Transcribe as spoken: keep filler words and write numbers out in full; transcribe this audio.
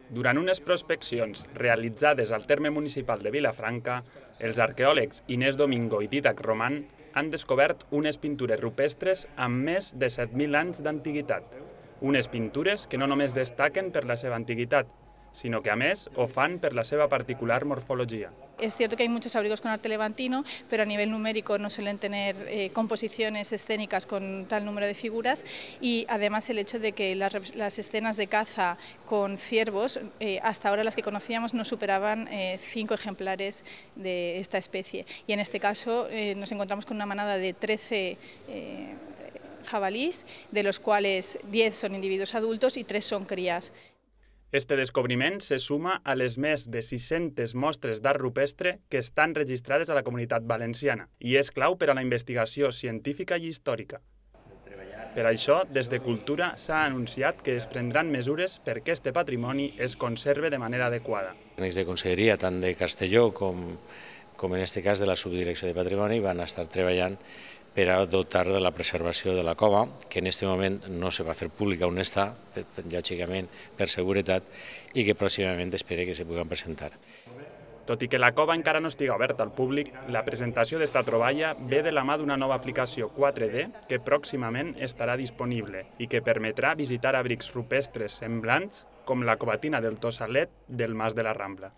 Durant unes prospeccions realitzades al terme municipal de Vilafranca, els arqueòlegs Inés Domingo i Dídac Roman han descobert unes pintures rupestres amb més de set mil anys d'antiguitat. Unes pintures que no només destaquen per la seva antiguitat, sino que a més ho fan per la seva particular morfologia. Es cierto que hay muchos abrigos con arte levantino, pero a nivel numérico no suelen tener eh, composiciones escénicas con tal número de figuras, y además el hecho de que las, las escenas de caza con ciervos, eh, hasta ahora las que conocíamos, no superaban eh, cinco ejemplares de esta especie. Y en este caso eh, nos encontramos con una manada de trece eh, jabalís, de los cuales diez son individuos adultos y tres son crías. Este descobriment se suma a les més de sis-centes mostres d'art rupestre que estan registrades a la Comunitat Valenciana i és clau per a la investigació científica i històrica. Per això, des de Cultura s'ha anunciat que es prendran mesures perquè este patrimoni es conserve de manera adequada. Els de Conselleria, tant de Castelló com, com en aquest cas de la Subdirecció de Patrimoni, van estar treballant per a dotar de la preservació de la cova, que en aquest moment no se va fer pública on està, lògicament per seguretat, i que pròximament espera que se puguin presentar. Tot i que la cova encara no estiga oberta al públic, la presentació d'esta troballa ve de la mà d'una nova aplicació quatre D que pròximament estarà disponible i que permetrà visitar abrics rupestres semblants com la covatina del Tossalet del Mas de la Rambla.